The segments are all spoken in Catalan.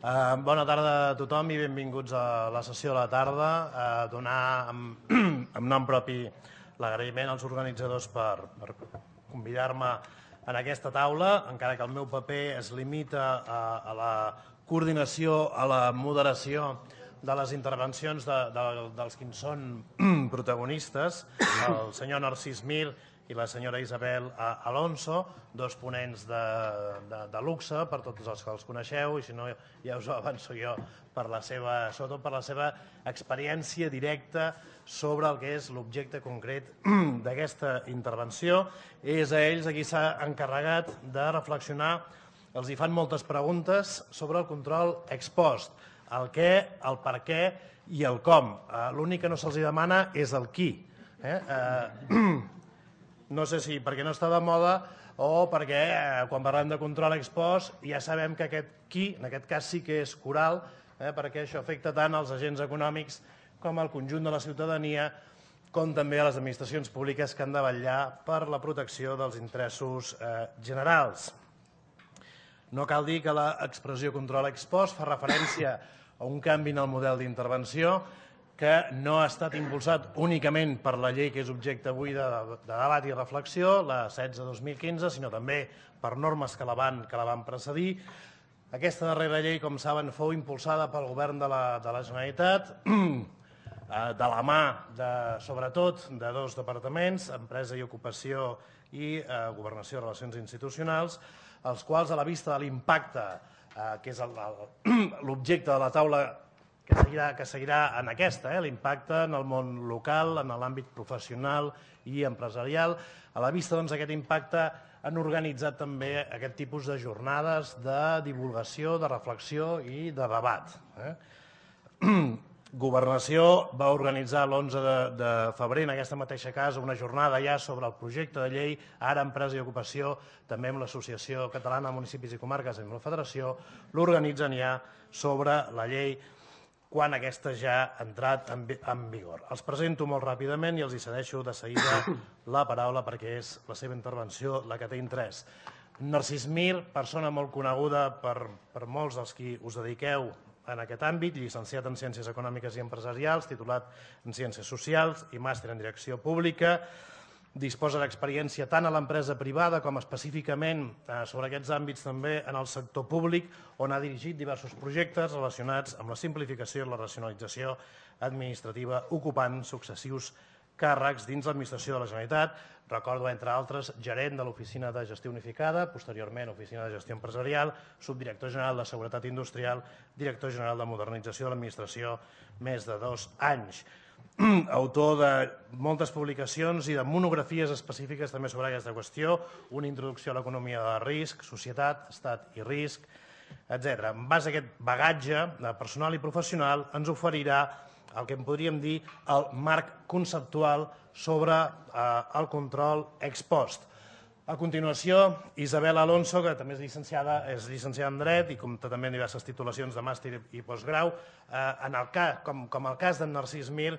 Bona tarda a tothom i benvinguts a la sessió de la tarda. Donar en nom propi l'agraïment als organitzadors per convidar-me en aquesta taula, encara que el meu paper es limita a la coordinació, a la moderació de les intervencions dels que en són protagonistes, el senyor Narcís Mir i la senyora Isabel Alonso, dos ponents de luxe per tots els que els coneixeu, i si no ja us ho avanço jo, sobretot per la seva experiència directa sobre el que és l'objecte concret d'aquesta intervenció. És a ells a qui s'ha encarregat de reflexionar, els hi fan moltes preguntes sobre el control ex post, el què, el per què i el com. L'únic que no se'ls demana és el qui. No sé si perquè no està de moda o perquè quan parlem de control ex post ja sabem que aquest qui, en aquest cas sí que és coral, perquè això afecta tant als agents econòmics com al conjunt de la ciutadania, com també a les administracions públiques que han de vetllar per la protecció dels interessos generals. No cal dir que l'expressió control ex post fa referència a un canvi en el model d'intervenció que no ha estat impulsat únicament per la llei que és objecte avui de debat i reflexió, la 16/2015, sinó també per normes que la van precedir. Aquesta darrera llei, com saben, fou impulsada pel govern de la Generalitat, de la mà, sobretot, de dos departaments, Empresa i Ocupació i Governació i Relacions Institucionals, els quals, a la vista de l'impacte, que és l'objecte de la taula que seguirà en aquesta, l'impacte en el món local, en l'àmbit professional i empresarial. A la vista d'aquest impacte han organitzat també aquest tipus de jornades de divulgació, de reflexió i de debat. Governació va organitzar l'11 de febrer en aquesta mateixa casa una jornada ja sobre el projecte de llei, ara Empresa i Ocupació, també amb l'Associació Catalana de Municipis i Comarques i amb la Federació, l'organitzen ja sobre la llei quan aquesta ja ha entrat en vigor. Els presento molt ràpidament i els hi cedeixo de seguida la paraula perquè és la seva intervenció la que té interès. Narcís Mir, persona molt coneguda per molts dels qui us dediqueu en aquest àmbit, llicenciat en Ciències Econòmiques i Empresarials, titulat en Ciències Socials i màster en Direcció Pública. Disposa d'experiència tant a l'empresa privada com específicament sobre aquests àmbits també en el sector públic, on ha dirigit diversos projectes relacionats amb la simplificació i la racionalització administrativa, ocupant successius càrrecs dins l'administració de la Generalitat. Recordo, entre altres, gerent de l'Oficina de Gestió Unificada, posteriorment Oficina de Gestió Empresarial, subdirector general de Seguretat Industrial, director general de Modernització de l'Administració, més de 2 anys. Autor de moltes publicacions i de monografies específiques també sobre aquesta qüestió, una introducció a l'economia de risc, societat, estat i risc, etc. En base a aquest bagatge personal i professional ens oferirà el que en podríem dir el marc conceptual sobre el control ex post. A continuació, Isabel Alonso, que també és llicenciada en Dret i compta també en diverses titulacions de màster i postgrau, com el cas d'en Narcís Mir,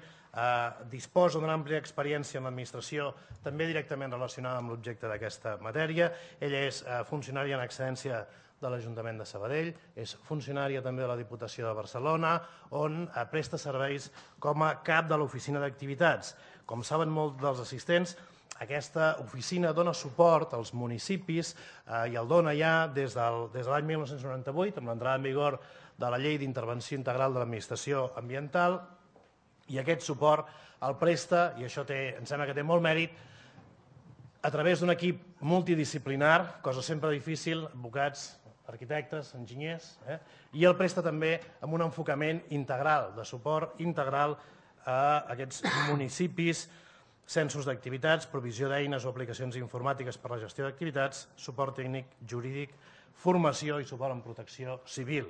disposa d'una àmplia experiència en l'administració, també directament relacionada amb l'objecte d'aquesta matèria. Ella és funcionària en excedència de l'Ajuntament de Sabadell, és funcionària també de la Diputació de Barcelona, on presta serveis com a cap de l'oficina d'activitats. Com saben molts dels assistents, aquesta oficina dona suport als municipis i el dona ja des de l'any 1998, amb l'entrada en vigor de la Llei d'Intervenció Integral de l'Administració Ambiental, i aquest suport el presta, i això em sembla que té molt mèrit, a través d'un equip multidisciplinar, cosa sempre difícil, advocats, arquitectes, enginyers, i el presta també amb un enfocament integral, de suport integral a aquests municipis, censos d'activitats, provisió d'eines o aplicacions informàtiques per a la gestió d'activitats, suport tècnic, jurídic, formació i suport en protecció civil.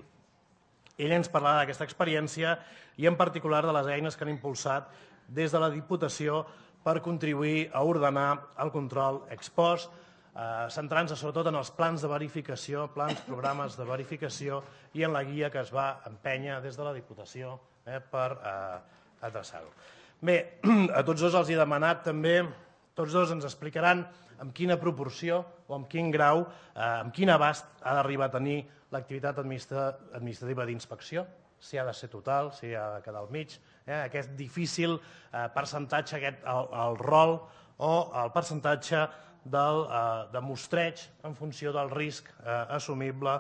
Ell ens parlarà d'aquesta experiència i en particular de les eines que han impulsat des de la Diputació per contribuir a ordenar el control ex post, centrant-se sobretot en els plans de verificació, programes de verificació i en la guia que es va empènyer des de la Diputació per adreçar-ho. Bé, a tots dos els he demanat també Tots dos ens explicaran amb quina proporció o amb quin grau, amb quin abast ha d'arribar a tenir l'activitat administrativa d'inspecció, si ha de ser total, si ha de quedar al mig, aquest difícil percentatge, el rol o el percentatge de mostreig en funció del risc assumible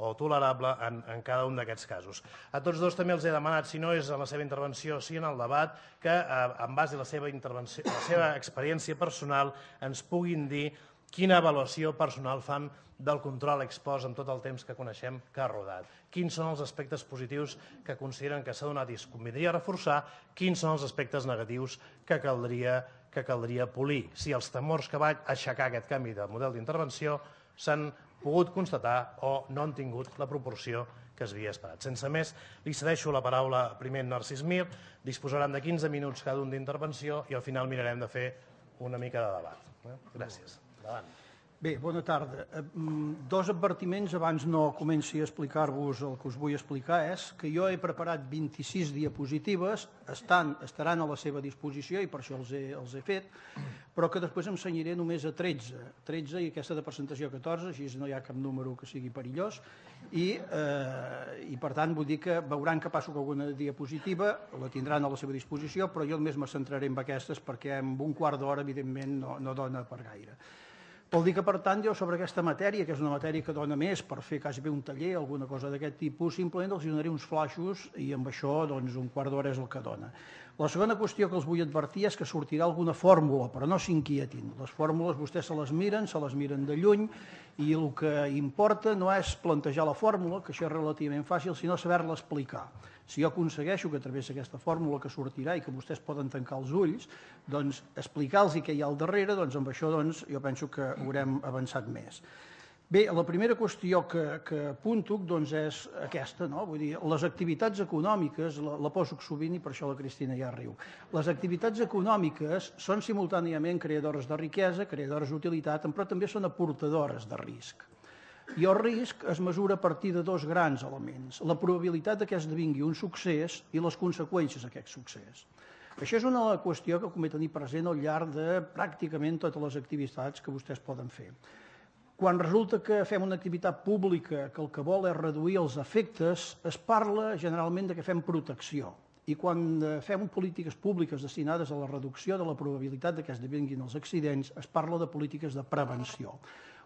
o tolerable en cada un d'aquests casos. A tots dos també els he demanat, si no és en la seva intervenció, sí en el debat, que en base a la seva experiència personal ens puguin dir quina avaluació personal fan del control ex post en tot el temps que coneixem que ha rodat. Quins són els aspectes positius que consideren que s'ha donat i es convindria reforçar, quins són els aspectes negatius que caldria polir. Si els temors que va aixecar aquest canvi de model d'intervenció s'han pogut constatar o no han tingut la proporció que es havia esperat. Sense més, li cedeixo la paraula primer a Narcís Mir, disposaran de 15 minuts cada un d'intervenció i al final mirarem de fer una mica de debat. Gràcies. Endavant. Bé, bona tarda. Dos advertiments abans no comenci a explicar-vos el que us vull explicar és que jo he preparat 26 diapositives, estaran a la seva disposició i per això els he fet, però que després em cenyiré només a 13 i aquesta de presentació 14, així no hi ha cap número que sigui perillós i per tant vull dir que veuran que passo alguna diapositiva, la tindran a la seva disposició, però jo només me centraré en aquestes perquè en un quart d'hora evidentment no dona per gaire. Vol dir que, per tant, jo sobre aquesta matèria, que és una matèria que dona més per fer quasi bé un taller o alguna cosa d'aquest tipus, simplement els donaré uns flaixos i amb això doncs, un quart d'hora és el que dona. La segona qüestió que els vull advertir és que sortirà alguna fórmula, però no s'inquietin. Les fórmules vostès se les miren de lluny i el que importa no és plantejar la fórmula, que això és relativament fàcil, sinó saber-la explicar. Si jo aconsegueixo que a través d'aquesta fórmula que sortirà i que vostès poden tancar els ulls, doncs explicar-los què hi ha al darrere, doncs amb això jo penso que haurem avançat més. Bé, la primera qüestió que apunto és aquesta, no? Vull dir, les activitats econòmiques, la poso sovint i per això la Cristina ja riu, les activitats econòmiques són simultàniament creadores de riquesa, creadores d'utilitat, però també són aportadores de risc. I el risc es mesura a partir de dos grans elements, la probabilitat que esdevingui un succés i les conseqüències d'aquest succés. Això és una qüestió que convé tenir present al llarg de pràcticament totes les activitats que vostès poden fer. Quan resulta que fem una activitat pública que el que vol és reduir els efectes, es parla generalment de que fem protecció. I quan fem polítiques públiques destinades a la reducció de la probabilitat que esdevinguin els accidents, es parla de polítiques de prevenció.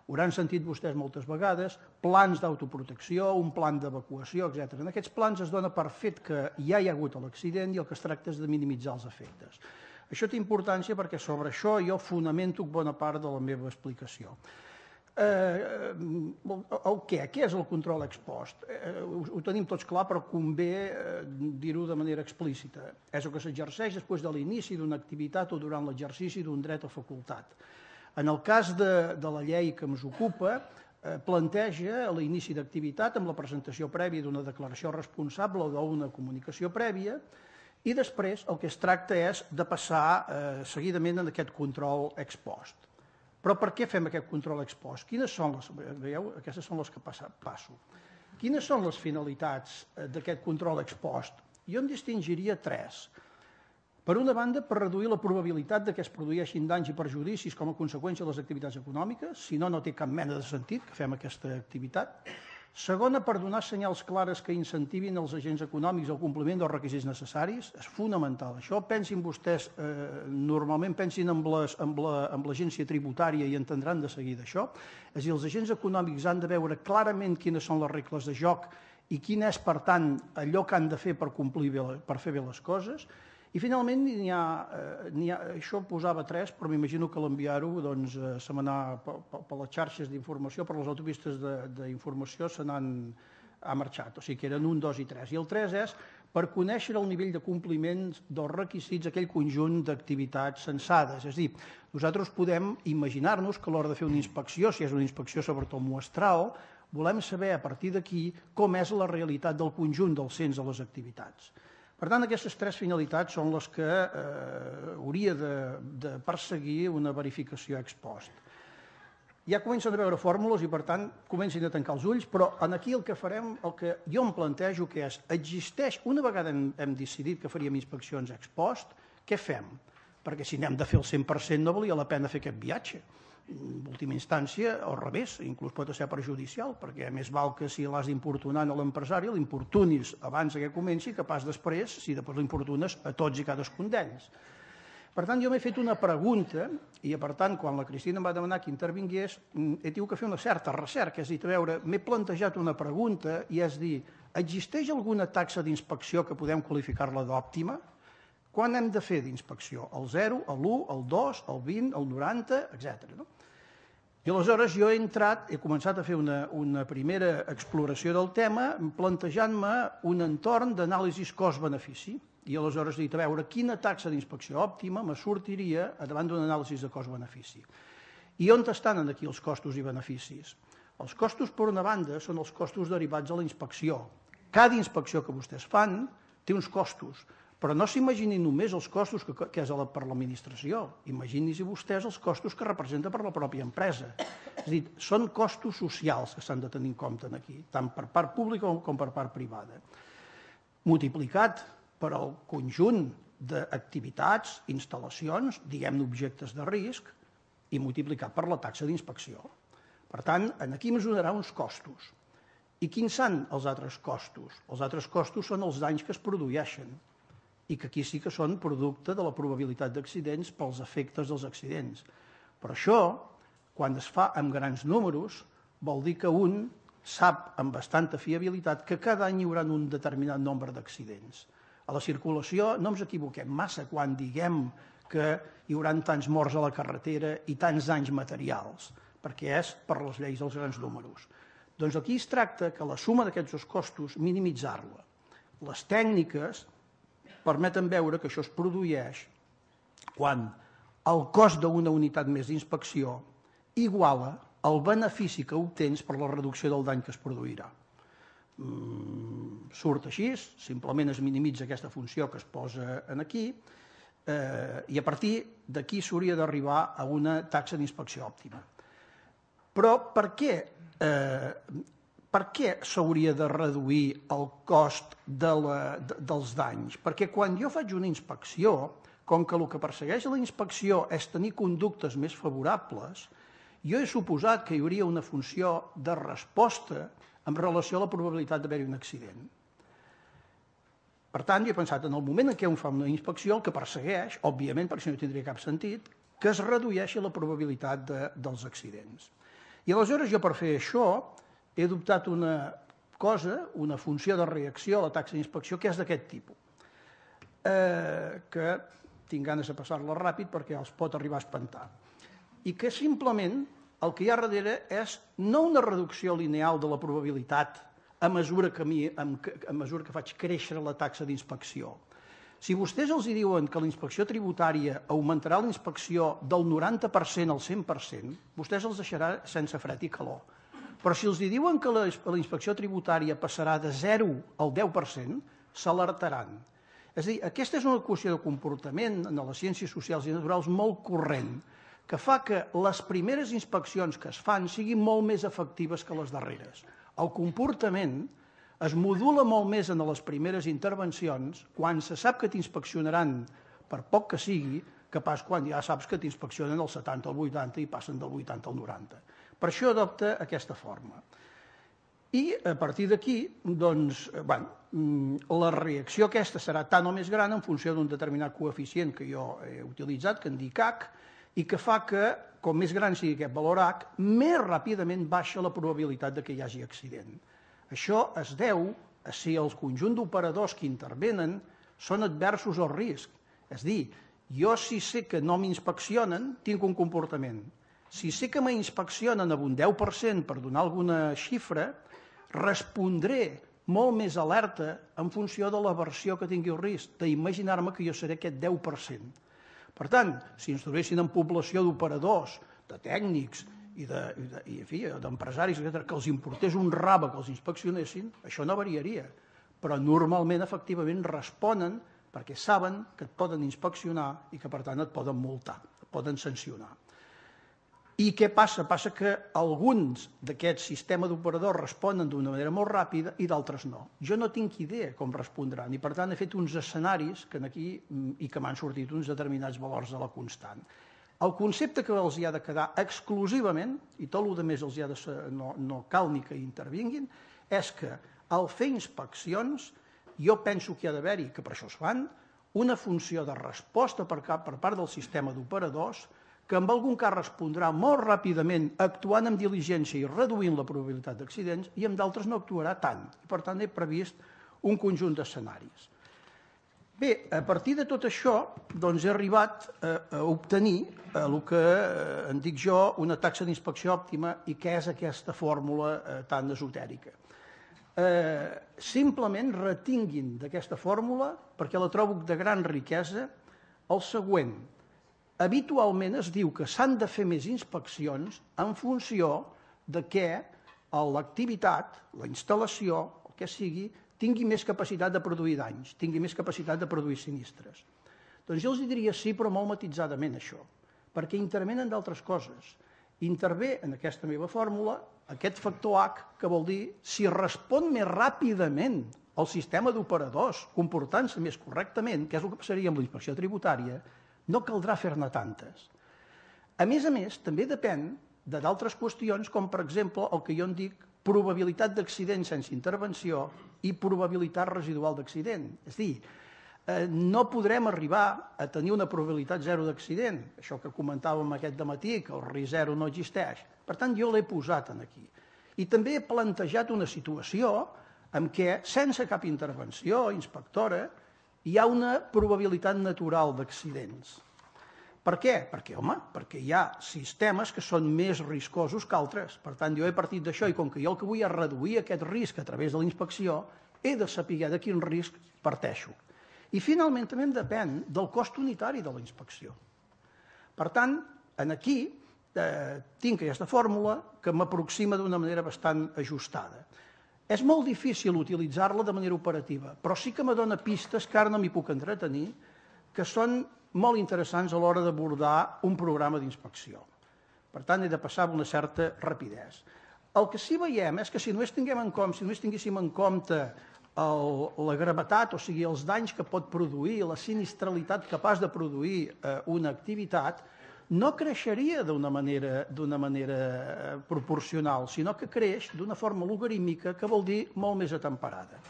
Hauran sentit vostès moltes vegades plans d'autoprotecció, un plan d'evacuació, etc. En aquests plans es dona per fet que ja hi ha hagut l'accident i el que es tracta és de minimitzar els efectes. Això té importància perquè sobre això jo fonamento bona part de la meva explicació. Què és el control ex post? Ho tenim tots clar, però convé dir-ho de manera explícita. És el que s'exerceix després de l'inici d'una activitat o durant l'exercici d'un dret o facultat. En el cas de la llei que ens ocupa, planteja l'inici d'activitat amb la presentació prèvia d'una declaració responsable o d'una comunicació prèvia i després el que es tracta és de passar seguidament en aquest control ex post. Però per què fem aquest control ex post? Quines són les... Veieu? Aquestes són les que passo. Quines són les finalitats d'aquest control ex post? Jo en distingiria tres. Per una banda, per reduir la probabilitat que es produeixin danys i perjudicis com a conseqüència de les activitats econòmiques, si no, no té cap mena de sentit que fem aquesta activitat. Segona, per donar senyals clares que incentivin els agents econòmics al compliment dels requisits necessaris. És fonamental això. Pensin vostès, normalment pensin amb l'agència tributària i entendran de seguida això. És a dir, els agents econòmics han de veure clarament quines són les regles de joc i quin és, per tant, allò que han de fer per fer bé les coses. I finalment, això posava 3, però m'imagino que l'enviar-ho se m'anà per les xarxes d'informació, per les autopistes d'informació ha marxat, o sigui que eren 1, 2 i 3. I el 3 és per conèixer el nivell de compliment dels requisits d'aquell conjunt d'activitats censades. És a dir, nosaltres podem imaginar-nos que a l'hora de fer una inspecció, si és una inspecció sobretot muestral, volem saber a partir d'aquí com és la realitat del conjunt del cens de les activitats. Per tant, aquestes 3 finalitats són les que hauria de perseguir una verificació ex post. Ja comencen a veure fórmules i, per tant, comencin a tancar els ulls, però aquí el que farem, el que jo em plantejo que és, existeix, una vegada hem decidit que faríem inspeccions ex post, què fem? perquè si n'hem de fer el 100% no valia la pena fer aquest viatge. En última instància, al revés, inclús pot ser perjudicial, perquè més val que si l'has d'importunar a l'empresari, l'importunis abans que comenci, que pas després, si després l'importunes a tots i cadascun d'ells. Per tant, jo m'he fet una pregunta i, per tant, quan la Cristina em va demanar que intervingués, he tingut que fer una certa recerca. És a dir, a veure, m'he plantejat una pregunta i és dir, existeix alguna taxa d'inspecció que podem qualificar-la d'òptima? Quan hem de fer d'inspecció? El 0, l'1, el 2, el 20, el 90, etc. I aleshores jo he començat a fer una primera exploració del tema plantejant-me un entorn d'anàlisi cost-benefici. I aleshores he dit, a veure, quina taxa d'inspecció òptima me sortiria davant d'un anàlisi de cost-benefici. I on estan aquí els costos i beneficis? Els costos, per una banda, són els costos derivats de la inspecció. Cada inspecció que vostès fan té uns costos, però no s'imaginin només els costos que és per l'administració. Imaginin-se vostès els costos que representa per la pròpia empresa. És a dir, són costos socials que s'han de tenir en compte aquí, tant per part pública com per part privada. Multiplicat per al conjunt d'activitats, instal·lacions, diguem-ne objectes de risc, i multiplicat per la taxa d'inspecció. Per tant, aquí mesurarà uns costos. I quins són els altres costos? Els altres costos són els danys que es produeixen i que aquí sí que són producte de la probabilitat d'accidents pels efectes dels accidents. Però això, quan es fa amb grans números, vol dir que un sap amb bastanta fiabilitat que cada any hi haurà un determinat nombre d'accidents. A la circulació no ens equivoquem massa quan diguem que hi haurà tants morts a la carretera i tants danys materials, perquè és per les lleis dels grans números. Doncs aquí es tracta que la suma d'aquests dos costos, minimitzar-la. Les tècniques permeten veure que això es produeix quan el cost d'una unitat més d'inspecció iguala el benefici que obtens per la reducció del dany que es produirà. Surt així, simplement es minimitza aquesta funció que es posa aquí i a partir d'aquí s'hauria d'arribar a una taxa d'inspecció òptima. Però per què s'hauria de reduir el cost dels danys? Perquè quan jo faig una inspecció, com que el que persegueix la inspecció és tenir conductes més favorables, jo he suposat que hi hauria una funció de resposta en relació a la probabilitat d'haver-hi un accident. Per tant, jo he pensat, en el moment en què un fa una inspecció, el que persegueix, òbviament, perquè no tindria cap sentit, que es redueixi la probabilitat dels accidents. I aleshores jo, per fer això, he adoptat una cosa, una funció de reacció a la taxa d'inspecció, que és d'aquest tipus, que tinc ganes de passar-la ràpid perquè els pot arribar a espantar, i que simplement el que hi ha darrere és no una reducció lineal de la probabilitat a mesura que faig créixer la taxa d'inspecció. Si vostès els diuen que la inspecció tributària augmentarà la inspecció del 90% al 100%, vostès els deixarà sense fred i calor. Però si els diuen que la inspecció tributària passarà de 0 al 10%, s'alertaran. És a dir, aquesta és una equació de comportament en les ciències socials i naturals molt corrent, que fa que les primeres inspeccions que es fan siguin molt més efectives que les darreres. El comportament es modula molt més en les primeres intervencions quan se sap que t'inspeccionaran, per poc que sigui, que pas quan ja saps que t'inspeccionen el 70 al 80 i passen del 80 al 90. Per això adopta aquesta forma. I a partir d'aquí, doncs, la reacció aquesta serà tan o més gran en funció d'un determinat coeficient que jo he utilitzat, que en dic H, i que fa que, com més gran sigui aquest valor H, més ràpidament baixa la probabilitat que hi hagi accident. Això es deu a si el conjunt d'operadors que intervenen són adversos al risc. És a dir, jo si sé que no m'inspeccionen, tinc un comportament. Si sé que m'inspeccionen amb un 10% per donar alguna xifra, respondré molt més alerta en funció de l'aversió que tingui el risc, d'imaginar-me que jo seré aquest 10%. Per tant, si ens trobessin en població d'operadors, de tècnics i d'empresaris, que els importés un rave que els inspeccionessin, això no variaria. Però normalment, efectivament, responen perquè saben que et poden inspeccionar i que, per tant, et poden multar, et poden sancionar. I què passa? Passa que alguns d'aquests sistemes d'operadors responen d'una manera molt ràpida i d'altres no. Jo no tinc idea com respondran i, per tant, he fet uns escenaris que aquí i que m'han sortit uns determinats valors de la constant. El concepte que els hi ha de quedar exclusivament, i tot el que més els hi ha de ser, no cal ni que intervinguin, és que al fer inspeccions jo penso que hi ha d'haver-hi, que per això es fan, una funció de resposta per part del sistema d'operadors que en algun cas respondrà molt ràpidament actuant amb diligència i reduint la probabilitat d'accidents i en d'altres no actuarà tant. I, per tant, he previst un conjunt d'escenaris. Bé, a partir de tot això, doncs he arribat a obtenir el que en dic jo una taxa d'inspecció òptima i què és aquesta fórmula tan esotèrica. Simplement retinguin d'aquesta fórmula, perquè la trobo de gran riquesa, el següent. Habitualment es diu que s'han de fer més inspeccions en funció de que l'activitat, la instal·lació, el que sigui, tingui més capacitat de produir danys, tingui més capacitat de produir sinistres. Doncs jo els diria sí, però molt matitzadament això, perquè intervenen d'altres coses. Intervé en aquesta meva fórmula aquest factor H, que vol dir si respon més ràpidament el sistema d'operadors, comportant-se més correctament, que és el que passaria amb la inspecció tributària, no caldrà fer-ne tantes. A més, també depèn d'altres qüestions, com per exemple el que jo en dic probabilitat d'accident sense intervenció i probabilitat residual d'accident. És a dir, no podrem arribar a tenir una probabilitat zero d'accident, això que comentàvem aquest dematí, que el risc zero no existeix. Per tant, jo l'he posat aquí. I també he plantejat una situació en què, sense cap intervenció inspectora, hi ha una probabilitat natural d'accidents. Per què? Perquè hi ha sistemes que són més riscosos que altres. Per tant, jo he partit d'això i com que jo el que vull és reduir aquest risc a través de la inspecció, he de saber de quin risc parteixo. I finalment també depèn del cost unitari de la inspecció. Per tant, aquí tinc aquesta fórmula que m'aproxima d'una manera bastant ajustada. És molt difícil utilitzar-la de manera operativa, però sí que me dona pistes que ara no m'hi puc entretenir, que són molt interessants a l'hora d'abordar un programa d'inspecció. Per tant, he de passar amb una certa rapidesa. El que sí veiem és que si només tinguéssim en compte la gravetat, o sigui, els danys que pot produir, la sinistralitat capaç de produir una activitat, no creixeria d'una manera proporcional, sinó que creix d'una forma logarítmica, que vol dir molt més atemperada.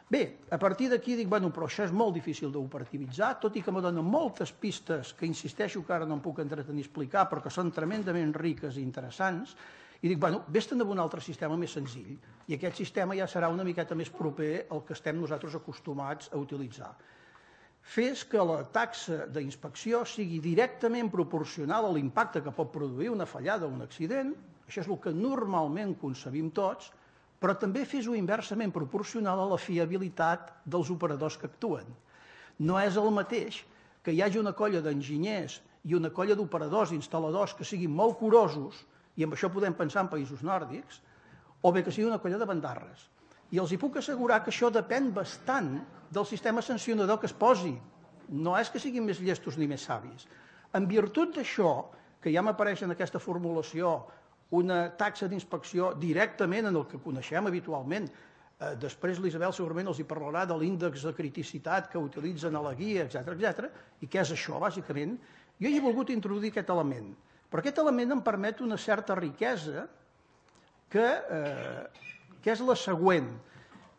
Bé, a partir d'aquí dic, però això és molt difícil d'operativitzar, tot i que me donen moltes pistes que insisteixo que ara no em puc entretenir a explicar, però que són tremendament riques i interessants, i dic, vés-te'n a un altre sistema més senzill, i aquest sistema ja serà una miqueta més proper al que estem nosaltres acostumats a utilitzar. Fes que la taxa d'inspecció sigui directament proporcional a l'impacte que pot produir una fallada o un accident, això és el que normalment concebim tots, però també fes-ho inversament proporcional a la fiabilitat dels operadors que actuen. No és el mateix que hi hagi una colla d'enginyers i una colla d'operadors i instal·ladors que siguin molt curosos, i amb això podem pensar en països nòrdics, o bé que sigui una colla de bandarres. I els hi puc assegurar que això depèn bastant del sistema sancionador que es posi. No és que siguin més llestos ni més savis. En virtut d'això, que ja m'apareix en aquesta formulació una taxa d'inspecció directament en el que coneixem habitualment, després l'Isabel segurament els hi parlarà de l'índex de criticitat que utilitzen a la guia, etc. I què és això, bàsicament? Jo hi he volgut introduir aquest element, però aquest element em permet una certa riquesa que és la següent.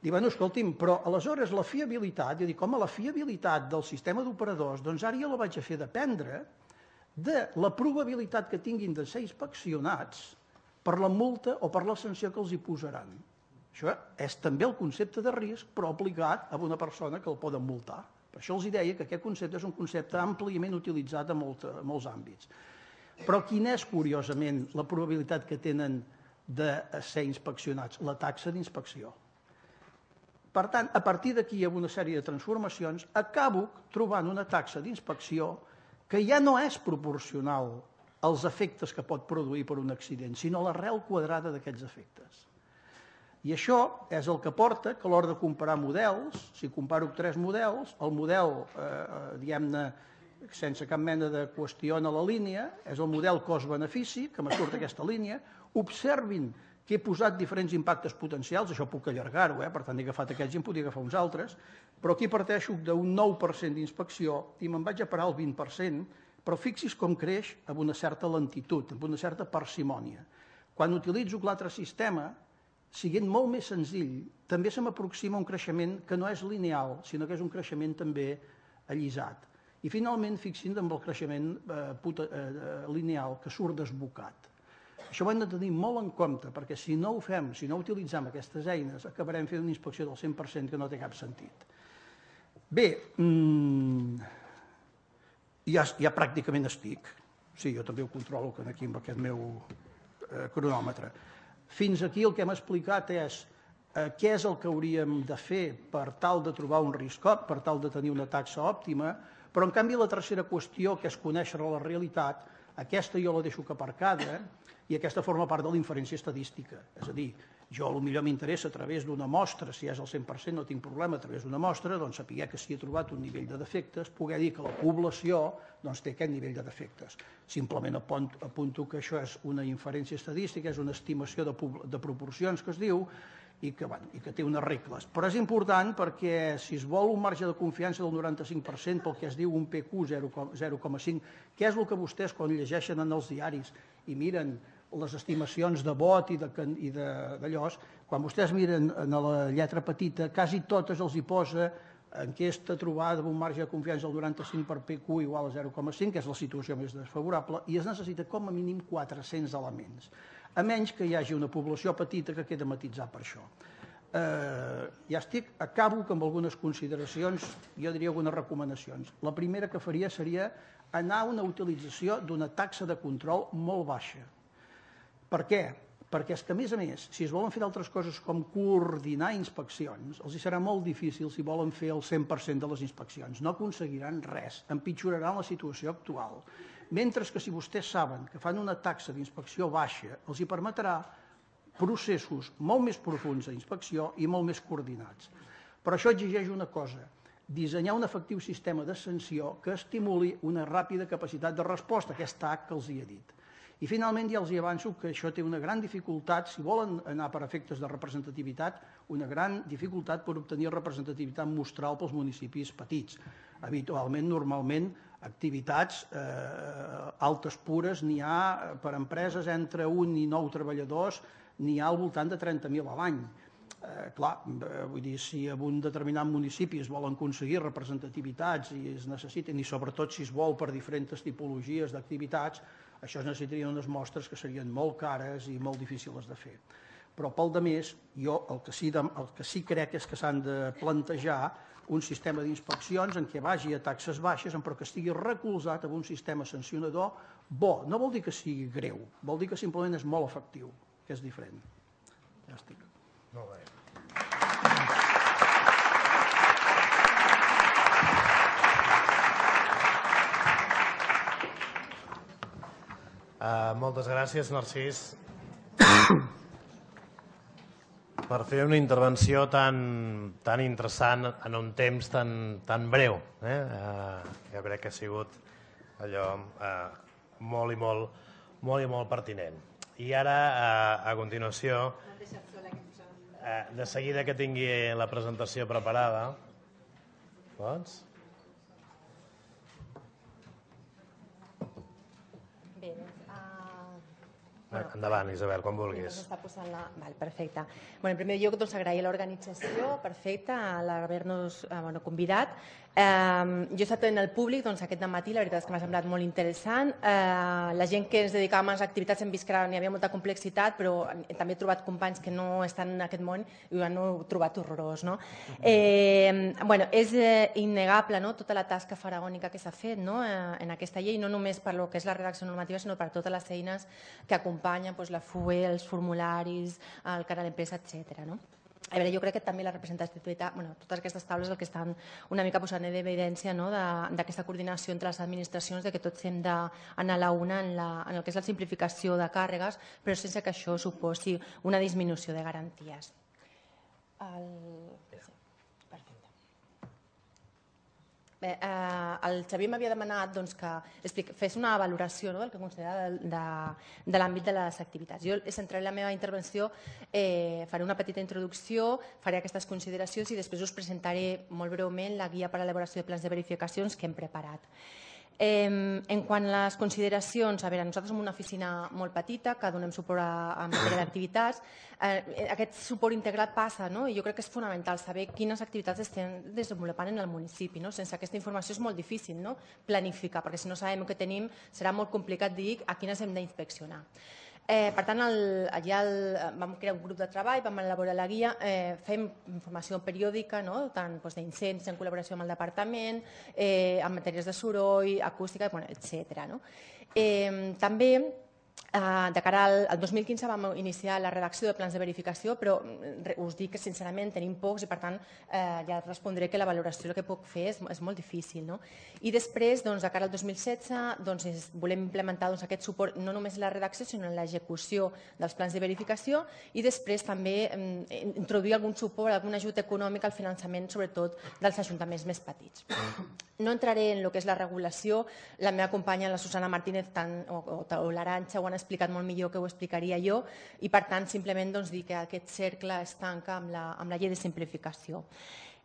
Dic, escolti'm, però aleshores la fiabilitat, jo dic, la fiabilitat del sistema d'operadors, doncs ara jo la vaig a fer dependre de la probabilitat que tinguin de ser inspeccionats per la multa o per la sanció que els hi posaran. Això és també el concepte de risc, però aplicat a una persona que el poden multar. Per això els deia que aquest concepte és un concepte àmpliament utilitzat en molts àmbits. Però quina és, curiosament, la probabilitat que tenen de ser inspeccionats? La taxa d'inspecció. Per tant, a partir d'aquí, amb una sèrie de transformacions, acabo trobant una taxa d'inspecció que ja no és proporcional als efectes que pot produir per un accident, sinó l'arrel quadrada d'aquests efectes. I això és el que porta que a l'hora de comparar models, si comparo 3 models, el model, diguem-ne, sense cap mena de qüestió en la línia, és el model cost-benefici, que me surt aquesta línia. Observin que he posat diferents impactes potencials, això puc allargar-ho, per tant he agafat aquests i en podria agafar uns altres, però aquí parteixo d'un 9% d'inspecció i me'n vaig a parar al 20%, però fixi's com creix amb una certa lentitud, amb una certa parsimònia. Quan utilitzo l'altre sistema, siguent molt més senzill, també se m'aproxima un creixement que no és lineal, sinó que és un creixement també allisat. I finalment fixin amb el creixement lineal que surt desbocat. Això ho hem de tenir molt en compte, perquè si no ho fem, si no utilitzem aquestes eines, acabarem fent una inspecció del 100% que no té cap sentit. Bé, ja pràcticament estic. Sí, jo també ho controlo aquí amb aquest meu cronòmetre. Fins aquí el que hem explicat és què és el que hauríem de fer per tal de trobar un risc, per tal de tenir una taxa òptima, però en canvi la tercera qüestió, que és conèixer la realitat, aquesta jo la deixo aparcada i aquesta forma part de la inferència estadística. És a dir, jo potser m'interessa a través d'una mostra, si és el 100% no tinc problema, a través d'una mostra, doncs saber que si he trobat un nivell de defectes, poder dir que la població té aquest nivell de defectes. Simplement apunto que això és una inferència estadística, és una estimació de proporcions que es diu, i que té unes regles. Però és important perquè si es vol un marge de confiança del 95% pel que es diu un PQ 0,5, què és el que vostès quan llegeixen en els diaris i miren les estimacions de vot i d'allò, quan vostès miren en la lletra petita, quasi totes els hi posa enquesta trobada amb un marge de confiança del 95 per PQ igual a 0,5, que és la situació més desfavorable, i es necessita com a mínim 400 elements, a menys que hi hagi una població petita que queda matitzar per això. Ja estic, acabo amb algunes consideracions, jo diria algunes recomanacions. La primera que faria seria anar a una utilització d'una taxa de control molt baixa. Per què? Perquè és que, a més, si es volen fer d'altres coses com coordinar inspeccions, els serà molt difícil si volen fer el 100% de les inspeccions. No aconseguiran res, empitjoraran la situació actual. Mentre que si vostès saben que fan una taxa d'inspecció baixa, els hi permetrà processos molt més profunds d'inspecció i molt més coordinats. Però això exigeix una cosa, dissenyar un efectiu sistema de sanció que estimuli una ràpida capacitat de resposta, aquesta H que els hi he dit. I finalment ja els hi avanço que això té una gran dificultat, si volen anar per efectes de representativitat, una gran dificultat per obtenir representativitat mostral pels municipis petits. Habitualment, normalment, activitats altes pures n'hi ha per empreses entre 1 i 9 treballadors, n'hi ha al voltant de 30.000 a l'any. Clar, vull dir, si en un determinat municipi es volen aconseguir representativitats i es necessiten, i sobretot si es vol per diferents tipologies d'activitats, això es necessitarien unes mostres que serien molt cares i molt difícils de fer. Però pel demés, jo el que sí crec és que s'han de plantejar un sistema d'inspeccions en què vagi a taxes baixes, però que estigui recolzat en un sistema sancionador bo. No vol dir que sigui greu, vol dir que simplement és molt efectiu, que és diferent. Ja estic. Molt bé. Moltes gràcies, Narcís, per fer una intervenció tan interessant en un temps tan breu. Jo crec que ha sigut allò molt i molt pertinent. I ara, a continuació, de seguida que tingui la presentació preparada, pots? Endavant, Isabel, quan vulguis. Perfecte. En primer lloc, agrair a l'organització, perfecte, l'haver-nos convidat. Jo he estat en el públic aquest dematí, la veritat és que m'ha semblat molt interessant. La gent que ens dedicàvem a les activitats hem vist que n'hi havia molta complexitat, però també he trobat companys que no estan en aquest món i ho han trobat horrorós. És innegable tota la tasca faraònica que s'ha fet en aquesta llei, no només per lo que és la redacció normativa, sinó per totes les eines que acompanyen la FUE, els formularis, el canal empresa, etc. A veure, jo crec que també la representativitat, totes aquestes taules el que estan una mica posant en evidència d'aquesta coordinació entre les administracions, que tots hem d'anar a la una en el que és la simplificació de càrregues, però sense que això suposi una disminució de garanties. Bé, el Xavier m'havia demanat que fes una valoració del que considera de l'àmbit de les activitats. Jo centraré la meva intervenció, faré una petita introducció, faré aquestes consideracions i després us presentaré molt breument la guia per a l'elaboració de plans de verificacions que hem preparat. En quant a les consideracions, a veure, nosaltres som una oficina molt petita que donem suport a matèria d'activitats. Aquest suport integral passa, i jo crec que és fonamental saber quines activitats estem desenvolupant en el municipi. Sense aquesta informació és molt difícil planificar, perquè si no sabem el que tenim serà molt complicat dir a quines hem d'inspeccionar. Per tant, allà vam crear un grup de treball, vam elaborar la guia, fem informació periòdica, tant d'incendis en col·laboració amb el departament, en matèries de soroll, acústica, etc. També, de cara al 2015 vam iniciar la redacció de plans de verificació, però us dic que sincerament tenim pocs i per tant ja respondré que la valoració que puc fer és molt difícil. I després, de cara al 2016, volem implementar aquest suport no només en la redacció sinó en l'execució dels plans de verificació i després també introduir algun suport, algun ajut econòmic al finançament, sobretot dels ajuntaments més petits. No entraré en el que és la regulació, la meva companya, la Susana Martínez o l'Arantxa ho han explicat molt millor que ho explicaria jo i per tant simplement dir que aquest cercle es tanca amb la llei de simplificació.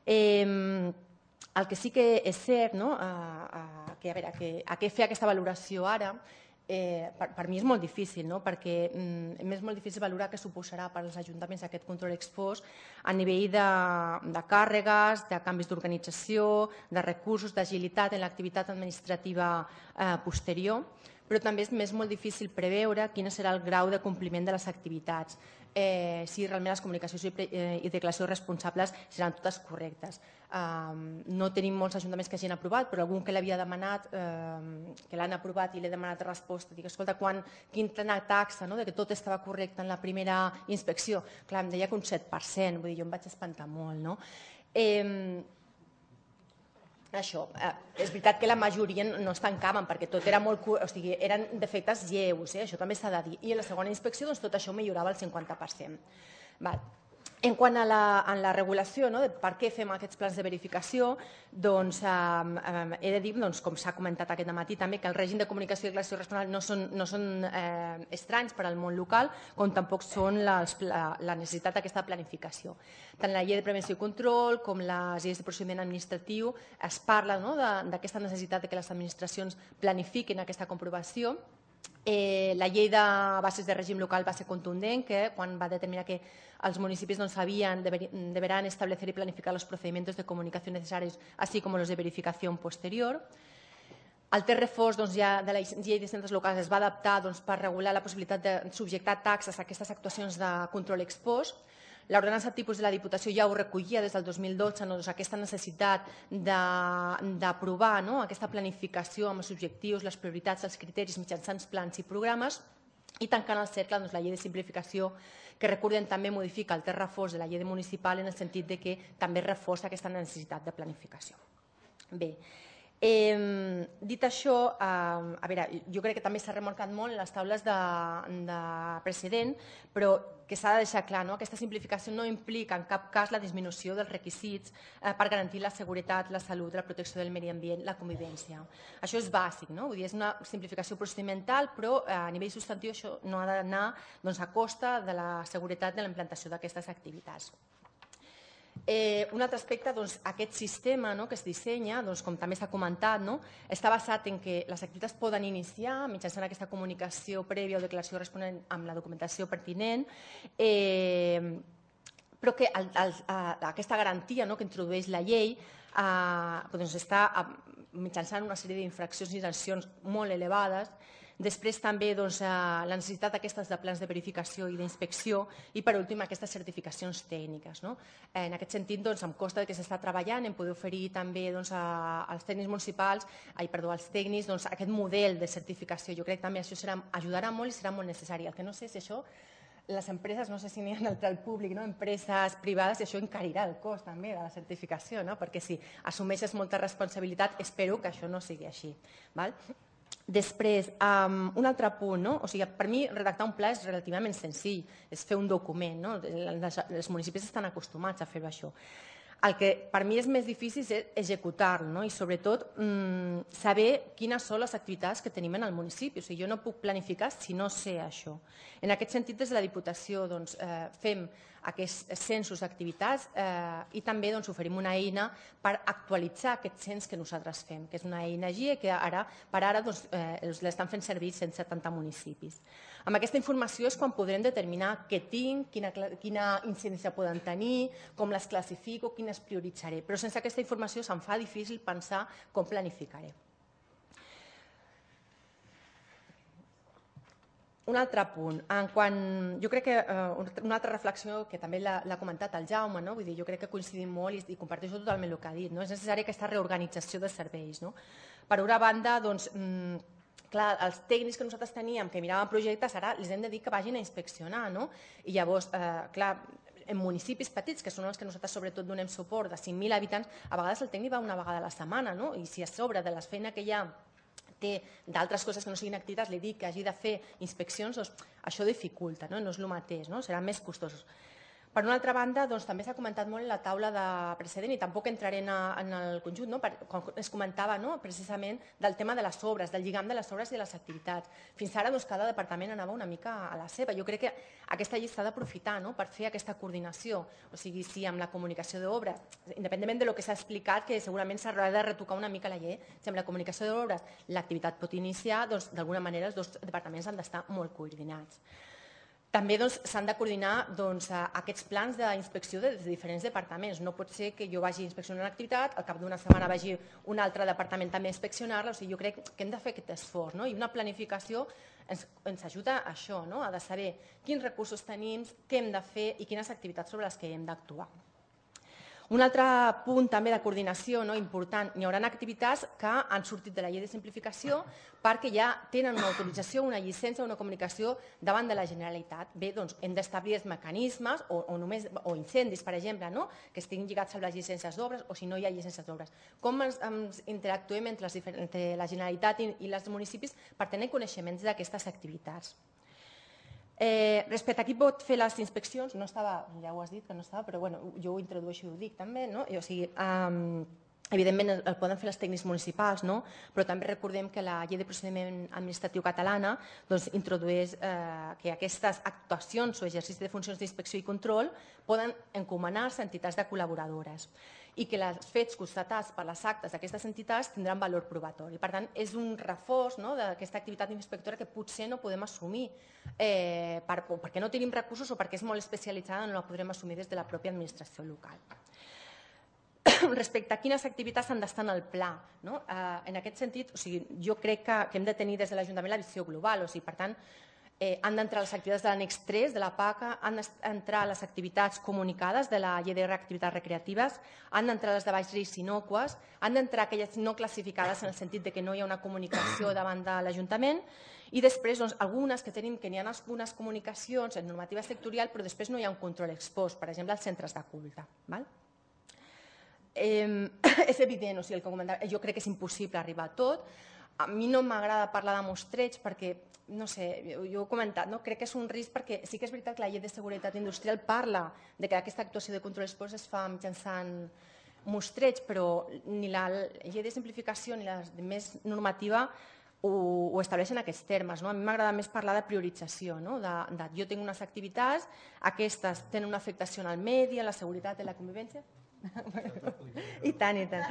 El que sí que és cert, a què fer aquesta valoració ara, per mi és molt difícil, perquè és molt difícil valorar què suposarà per als ajuntaments aquest control ex post a nivell de càrregues, de canvis d'organització, de recursos, d'agilitat en l'activitat administrativa posterior, però també és molt difícil preveure quin serà el grau de compliment de les activitats, si realment les comunicacions i declaracions responsables seran totes correctes. No tenim molts ajuntaments que hagin aprovat, però algun que l'havia demanat, que l'han aprovat i l'he demanat resposta, dic, escolta, quina taxa que tot estava correcte en la primera inspecció? Clar, em deia que un 7%, vull dir, jo em vaig espantar molt. Això, és veritat que la majoria no es tancaven perquè tot era molt... O sigui, eren defectes lleus, això també s'ha de dir. I en la segona inspecció tot això millorava el 50%. En quant a la regulació, per què fem aquests plans de verificació, he de dir, com s'ha comentat aquest matí també, que el règim de comunicació i declaració responsable no són estranys per al món local, com tampoc són la necessitat d'aquesta planificació. Tant la llei de prevenció i control com les lleis de procediment administratiu es parla d'aquesta necessitat que les administracions planifiquin aquesta comprovació. La llei de bases de règim local va ser contundent, que quan va determinar que els municipis deberán establecer y planificar los procedimientos de comunicación necesarios, así como los de verificación posterior. El text reforç de la llei de centres locals es va adaptar per regular la possibilitat de subjectar taxes a aquestes actuacions de control ex post. L'ordenança tipus de la Diputació ja ho recollia des del 2012, aquesta necessitat d'aprovar aquesta planificació amb els objectius, les prioritats, els criteris mitjançant plans i programes, i tancant el cercle la llei de simplificació, que recordem també modifica el text reforç de la llei municipal en el sentit que també reforça aquesta necessitat de planificació. Bé, dit això, jo crec que també s'ha remarcat molt en les taules de precedent, però que s'ha de deixar clar, aquesta simplificació no implica en cap cas la disminució dels requisits per garantir la seguretat, la salut, la protecció del medi ambient, la convivència. Això és bàsic, és una simplificació procedimental, però a nivell substantiu això no ha d'anar a costa de la seguretat de la implantació d'aquestes activitats. Un altre aspecte, aquest sistema que es dissenya, com també s'ha comentat, està basat en que les activitats poden iniciar mitjançant aquesta comunicació prèvia o declaració corresponent amb la documentació pertinent, però que aquesta garantia que introdueix la llei està mitjançant una sèrie d'infraccions i sancions molt elevades. Després també la necessitat d'aquestes de plans de verificació i d'inspecció i per últim aquestes certificacions tècniques. En aquest sentit em consta que s'està treballant en poder oferir també als tècnics municipals, als tècnics, aquest model de certificació. Jo crec que també això ajudarà molt i serà molt necessari. El que no sé si això les empreses, no sé si n'hi ha al públic, empreses privades, i això encarirà el cost també de la certificació, perquè si assumeixes molta responsabilitat, espero que això no sigui així. Després, un altre punt, per mi redactar un pla és relativament senzill, és fer un document, els municipis estan acostumats a fer això. El que per mi és més difícil és executar-lo, i sobretot saber quines són les activitats que tenim en el municipi. O sigui, jo no puc planificar si no sé això. En aquest sentit, des de la Diputació fem aquests censos d'activitats i també oferim una eina per actualitzar aquest cens que nosaltres fem, que és una eina GIE que per ara l'estan fent servir 170 municipis. Amb aquesta informació és quan podrem determinar què tinc, quina incidència poden tenir, com les classifico, quines prioritzaré. Però sense aquesta informació se'm fa difícil pensar com planificaré. Un altre punt, jo crec que una altra reflexió que també l'ha comentat el Jaume, jo crec que coincidim molt i comparteixo totalment el que ha dit, és necessària aquesta reorganització de serveis. Per una banda, clar, els tècnics que nosaltres teníem que miraven projectes, ara els hem de dir que vagin a inspeccionar, i llavors, clar, en municipis petits, que són els que nosaltres sobretot donem suport, de 5.000 habitants, a vegades el tècnic va una vegada a la setmana, i si a sobre de la feina que ja té d'altres coses que no siguin activitats, li dic que hagi de fer inspeccions, doncs això dificulta, no és el mateix, serà més costós. Per una altra banda, també s'ha comentat molt en la taula de precedent i tampoc entraré en el conjunt, quan es comentava precisament del tema de les obres, del lligam de les obres i de les activitats. Fins ara cada departament anava una mica a la seva. Jo crec que aquesta llei s'ha d'aprofitar per fer aquesta coordinació, o sigui, sí, amb la comunicació d'obres, independentment del que s'ha explicat, que segurament s'haurà de retocar una mica la llei, si amb la comunicació d'obres l'activitat pot iniciar, d'alguna manera els dos departaments han d'estar molt coordinats. També s'han de coordinar aquests plans d'inspecció dels diferents departaments. No pot ser que jo vagi a inspeccionar una activitat, al cap d'una setmana vagi un altre departament també a inspeccionar-la. Jo crec que hem de fer aquest esforç. I una planificació ens ajuda a això, a de saber quins recursos tenim, què hem de fer i quines activitats sobre les que hem d'actuar. Un altre punt també de coordinació important, hi haurà activitats que han sortit de la llei de simplificació perquè ja tenen una autorització, una llicència, una comunicació davant de la Generalitat. Bé, doncs hem d'establir els mecanismes o incendis, per exemple, que estiguin lligats amb les llicències d'obres o si no hi ha llicències d'obres. Com ens interactuem entre la Generalitat i els municipis per tenir coneixements d'aquestes activitats. Respecte a qui pot fer les inspeccions, no estava, ja ho has dit que no estava, però jo ho introdueixo i ho dic també, o sigui, evidentment el poden fer els tècnics municipals, però també recordem que la llei de procediment administratiu catalana introdueix que aquestes actuacions o exercici de funcions d'inspecció i control poden encomanar-se a entitats de col·laboradores i que els fets constatats per les actes d'aquestes entitats tindran valor probatori. Per tant, és un reforç d'aquesta activitat inspectora que potser no podem assumir perquè no tenim recursos o perquè és molt especialitzada, no la podrem assumir des de la pròpia administració local. Respecte a quines activitats han d'estar en el pla, en aquest sentit, jo crec que hem de tenir des de l'Ajuntament la visió global, per tant, han d'entrar les activitats de l'annex 3 de la PACA, han d'entrar les activitats comunicades de la llei d'activitats recreatives, han d'entrar les de baix risc innocues, han d'entrar aquelles no classificades en el sentit que no hi ha una comunicació davant de l'Ajuntament i després algunes que tenim que n'hi ha algunes comunicacions en normativa sectorial però després no hi ha un control ex post, per exemple els centres de culte. És evident, jo crec que és impossible arribar a tot. A mi no m'agrada parlar de mostreig perquè, no sé, jo he comentat, crec que és un risc perquè sí que és veritat que la llei de seguretat industrial parla que aquesta actuació de control ex post es fa mitjançant mostreig, però ni la llei de simplificació ni la més normativa ho estableixen en aquests termes. A mi m'agrada més parlar de priorització, de jo tinc unes activitats, aquestes tenen una afectació en el medi, en la seguretat, en la convivència. I tant, i tant.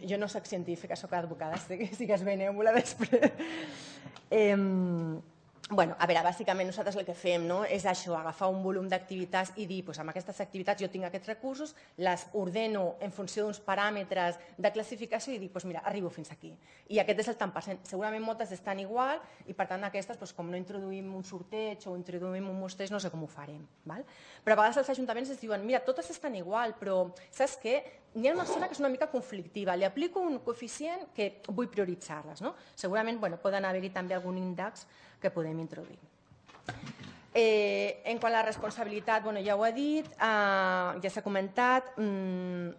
Jo no soc científica, soc advocada, sí que és benèvola després. A veure, bàsicament nosaltres el que fem és això, agafar un volum d'activitats i dir, amb aquestes activitats jo tinc aquests recursos, les ordeno en funció d'uns paràmetres de classificació i dic, mira, arribo fins aquí. I aquest és el tant per cent. Segurament moltes estan igual i per tant aquestes, com no introduïm un sorteig o introduïm un mostreig, no sé com ho farem. Però a vegades els ajuntaments ens diuen, mira, totes estan igual, però saps què? N'hi ha una zona que és una mica conflictiva, li aplico un coeficient que vull prioritzar-les. Segurament poden haver-hi també algun índex que podem introduir. En quant a la responsabilitat, ja ho he dit, ja s'ha comentat. Un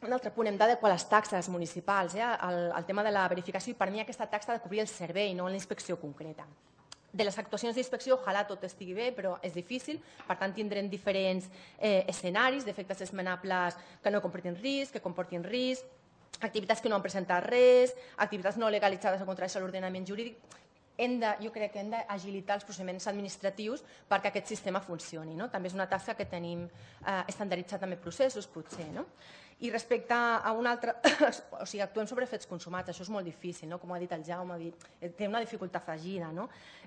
altre punt, hem d'adequar les taxes municipals al tema de la verificació i per mi aquesta taxa ha de cobrir el servei, no la inspecció concreta. de les actuacions d'inspecció, ojalà tot estigui bé, però és difícil. Per tant, tindrem diferents escenaris d'efectes esmenables que no comportin risc, que comportin risc, activitats que no han presentat res, activitats no legalitzades o contraris a l'ordenament jurídic. Jo crec que hem d'agilitar els procediments administratius perquè aquest sistema funcioni. També és una tasca que tenim estandarditzat també processos, potser. I respecte a un altre... O sigui, actuem sobre fets consumats, això és molt difícil, com ha dit el Jaume, té una dificultat afegida.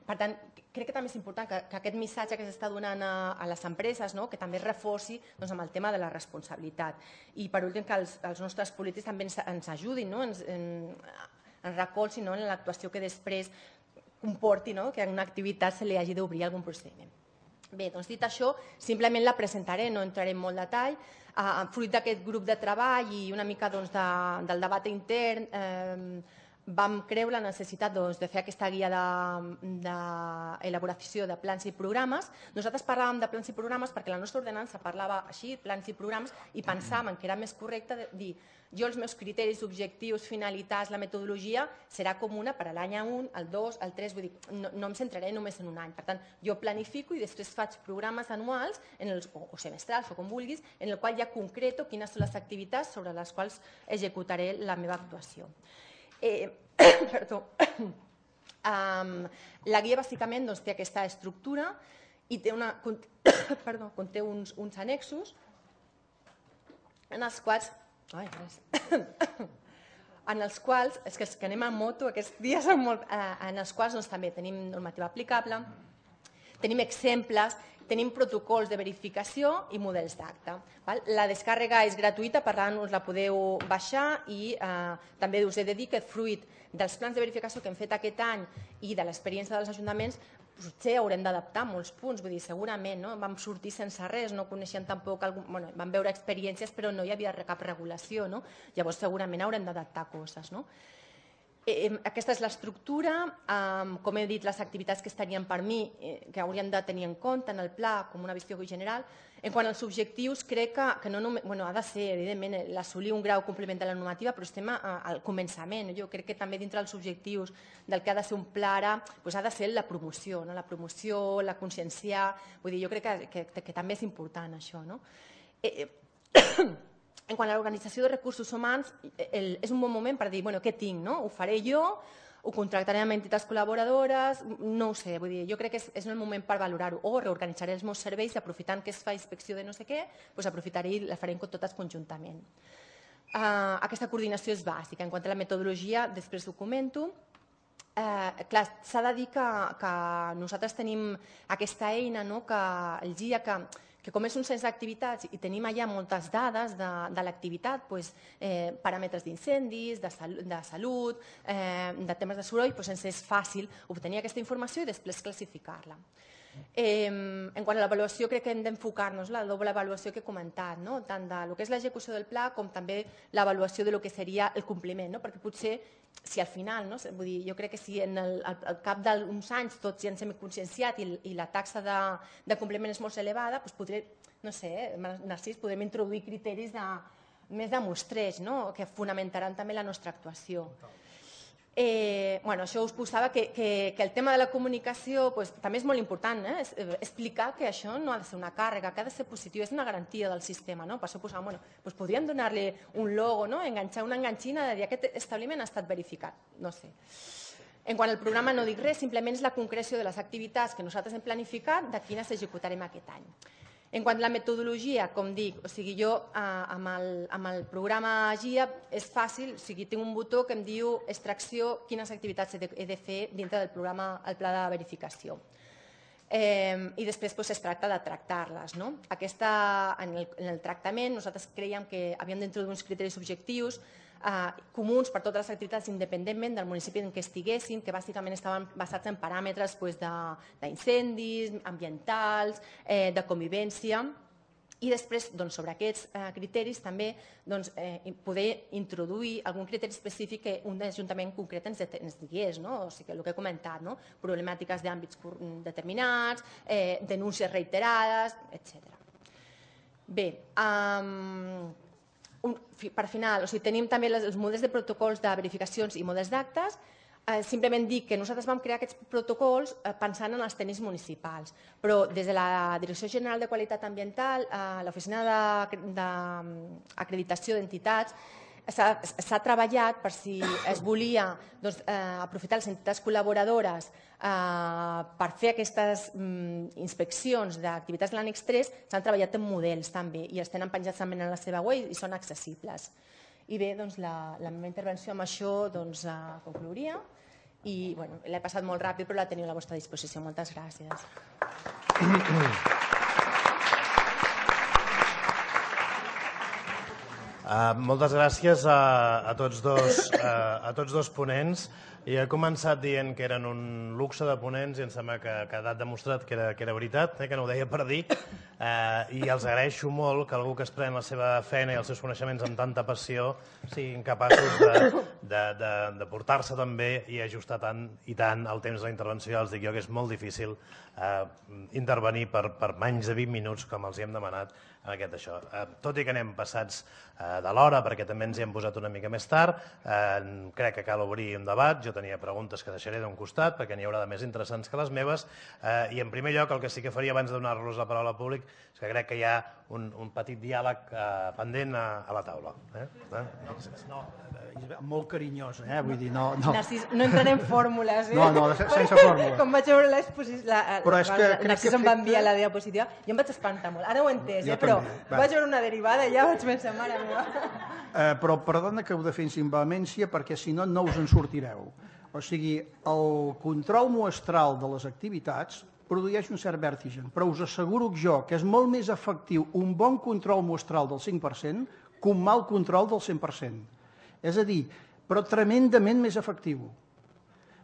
Per tant, crec que també és important que aquest missatge que s'està donant a les empreses que també es reforci amb el tema de la responsabilitat. I per últim, que els nostres polítics també ens ajudin, ens recolzin en l'actuació que després comporti que en una activitat se li hagi d'obrir algun procediment. Bé, doncs dit això, simplement la presentaré, no entraré en molt detall. Fruit d'aquest grup de treball i una mica del debat intern, vam creure la necessitat de fer aquesta guia d'elaboració de plans i programes. Nosaltres parlàvem de plans i programes perquè la nostra ordenança parlava així, plans i programes, i pensàvem que era més correcte dir jo els meus criteris, objectius, finalitats, la metodologia serà comuna per a l'any 1, el 2, el 3, vull dir, no em centraré només en un any. Per tant, jo planifico i després faig programes anuals o semestrals o com vulguis, en el qual ja concreto quines són les activitats sobre les quals executaré la meva actuació. La guia bàsicament té aquesta estructura i conté uns annexos en els quals és que anem a moto aquests dies, en els quals també tenim normativa aplicable, tenim exemples, tenim protocols de verificació i models d'acte. La descàrrega és gratuïta, per tant us la podeu baixar i també us he de dir que fruit dels plans de verificació que hem fet aquest any i de l'experiència dels ajuntaments potser haurem d'adaptar molts punts, vull dir, segurament vam sortir sense res, no coneixíem tampoc, vam veure experiències però no hi havia cap regulació, llavors segurament haurem d'adaptar coses. Aquesta és l'estructura, com he dit, les activitats que estarien per mi, que hauríem de tenir en compte en el pla com una visió general. En quant als objectius, crec que no només, ha de ser, evidentment, l'assolir un grau compliment de la normativa, però estem al començament. Jo crec que també dintre dels objectius del que ha de ser un pla ara, ha de ser la promoció, la conscienciar, vull dir, jo crec que també és important això. En quant a l'organització de recursos humans, és un bon moment per dir, què tinc? Ho faré jo, ho contractaré amb entitats col·laboradores, no ho sé, vull dir, jo crec que és el moment per valorar-ho, o reorganitzaré els meus serveis i aprofitant que es fa inspecció de no sé què, aprofitaré i la farem totes conjuntament. Aquesta coordinació és bàsica. En quant a la metodologia, després ho comento. Clar, s'ha de dir que nosaltres tenim aquesta eina, el GIA, que com és un cens d'activitats i tenim allà moltes dades de l'activitat, paràmetres d'incendis, de salut, de temes de soroll, ens és fàcil obtenir aquesta informació i després classificar-la. En quant a l'avaluació, crec que hem d'enfocar-nos la doble avaluació que he comentat, tant del que és l'execució del pla com també l'avaluació del que seria el compliment, perquè potser si al final, jo crec que si al cap d'uns anys tots ja ens hem conscienciat i la taxa de compliment és molt elevada, potser, no sé, Narcís, podem introduir criteris més de mostreig que fonamentaran també la nostra actuació. Això us posava que el tema de la comunicació també és molt important, explicar que això no ha de ser una càrrega, que ha de ser positiu, és una garantia del sistema. Per això posàvem, podríem donar-li un logo, enganxar una enganxina de dir aquest establiment ha estat verificat, no sé. En quant al programa no dic res, simplement és la concreció de les activitats que nosaltres hem planificat de quines executarem aquest any. En quant a la metodologia, com dic, jo amb el programa GIA és fàcil, tinc un botó que em diu extracció, quines activitats he de fer dintre del programa, el pla de verificació. I després es tracta de tractar-les. En el tractament nosaltres creiem que havíem d'introduir uns criteris objectius comuns per totes les activitats independentment del municipi en què estiguessin, que bàsicament estaven basats en paràmetres d'incendis, ambientals, de convivència, i després sobre aquests criteris també poder introduir algun criteri específic que un ajuntament concret ens digués, o sigui, el que he comentat, problemàtiques d'àmbits determinats, denúncies reiterades, etc. Bé, per final, tenim també els models de protocols de verificacions i models d'actes. Simplement dic que nosaltres vam crear aquests protocols pensant en els tècnics municipals, però des de la Direcció General de Qualitat Ambiental, l'Oficina d'Acreditació d'Entitats, s'ha treballat per si es volia aprofitar les entitats col·laboradores per fer aquestes inspeccions d'activitats de l'annex 3, s'han treballat en models també i els tenen penjats també en la seva web i són accessibles. I bé, doncs la meva intervenció amb això conclouria i l'he passat molt ràpid però la teniu a la vostra disposició. Moltes gràcies. Moltes gràcies a tots dos ponents. I he començat dient que eren un luxe de ponents i em sembla que ha quedat demostrat que era veritat, que no ho deia per dir. I els agraeixo molt que algú que es pren la seva feina i els seus coneixements amb tanta passió siguin capaços de portar-se tan bé i ajustar tant i tant el temps de la intervenció. Els dic jo que és molt difícil intervenir per menys de 20 minuts com els hi hem demanat en aquest això. Tot i que anem passats de l'hora, perquè també ens hi hem posat una mica més tard, crec que cal obrir un debat. Jo tenia preguntes que deixaré d'un costat, perquè n'hi haurà de més interessants que les meves, i en primer lloc el que sí que faria abans de donar-los la paraula al públic és que crec que hi ha un petit diàleg pendent a la taula. No, molt carinyós, vull dir, no... Narcís, no entraré en fórmules, No, sense fórmula. Com vaig veure Narcís em va enviar la diapositiva, jo em vaig espantar molt. Ara ho he entès, però vaig veure una derivada i ja vaig pensar, mare meva. Però perdona que ho defensi amb vehemència, perquè si no, no us en sortireu. O sigui, el control muestral de les activitats produeix un cert vertigen, però us asseguro jo que és molt més efectiu un bon control muestral del 5% que un mal control del 100%. És a dir, però tremendament més efectiu.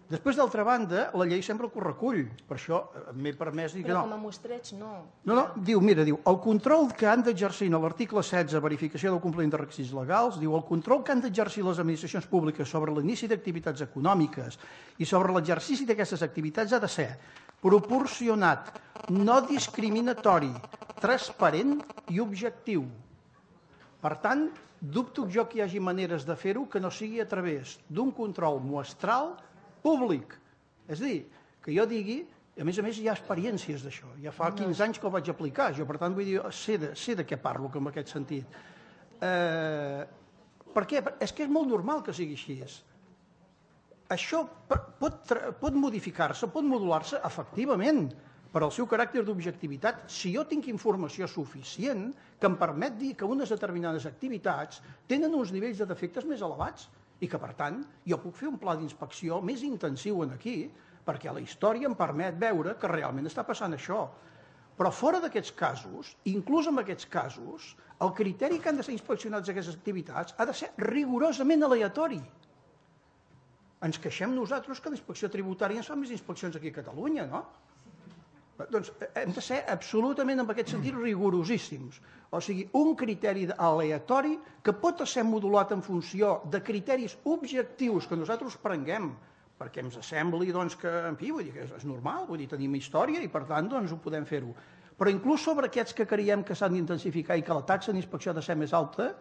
Després, d'altra banda, la llei sempre ho recull. Per això m'he permès dir que no. Però com a mostreig, no. No, diu, el control que han d'exercir en l'article 16, verificació del compliment de requisits legals, diu el control que han d'exercir les administracions públiques sobre l'inici d'activitats econòmiques i sobre l'exercici d'aquestes activitats ha de ser proporcionat, no discriminatori, transparent i objectiu. Per tant, dubto jo que hi hagi maneres de fer-ho que no sigui a través d'un control muestral públic. És a dir, que jo digui, a més hi ha experiències d'això, ja fa 15 anys que ho vaig aplicar, jo per tant vull dir, sé de què parlo en aquest sentit. Per què? És que és molt normal que sigui així. Això pot modificar-se, pot modular-se efectivament per al seu caràcter d'objectivitat si jo tinc informació suficient que em permet dir que unes determinades activitats tenen uns nivells de defectes més elevats i que, per tant, jo puc fer un pla d'inspecció més intensiu aquí perquè la història em permet veure que realment està passant això. Però fora d'aquests casos, inclús en aquests casos, el criteri que han de ser inspeccionats aquestes activitats ha de ser rigorosament aleatori. Ens queixem nosaltres que la inspecció tributària ens fa més inspeccions aquí a Catalunya, no? Doncs hem de ser absolutament, en aquest sentit, rigorosíssims. O sigui, un criteri aleatori que pot ser modulat en funció de criteris objectius que nosaltres prenguem, perquè ens sembli que, en fi, vull dir que és normal, vull dir, tenim història i, per tant, ho podem fer-ho. Però inclús sobre aquests que creiem que s'han d'intensificar i que la taxa d'inspecció ha de ser més alta,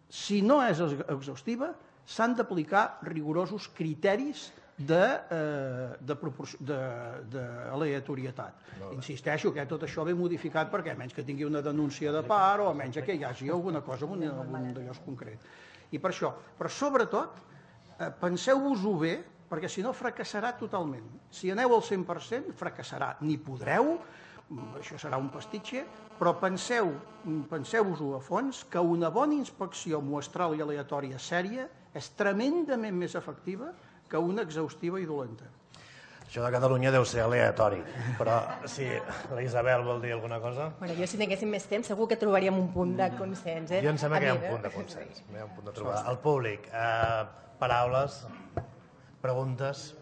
si no és exhaustiva, s'han d'aplicar rigorosos criteris d'aleatorietat. Insisteixo que tot això ve modificat perquè a menys que tingui una denúncia de part o a menys que hi hagi alguna cosa en un d'allòs concret. I per això, però sobretot, penseu-vos-ho bé, perquè si no fracassarà totalment. Si aneu al 100%, fracassarà. Ni podreu, això serà un pastitxe, però penseu-vos-ho a fons, que una bona inspecció muestral i aleatòria sèria és tremendament més efectiva que una exhaustiva i dolenta. Això de Catalunya deu ser aleatori, però si la Isabel vol dir alguna cosa... Jo si tinguéssim més temps segur que trobaríem un punt de consens. Jo em sembla que hi ha un punt de consens. El públic, paraules, preguntes...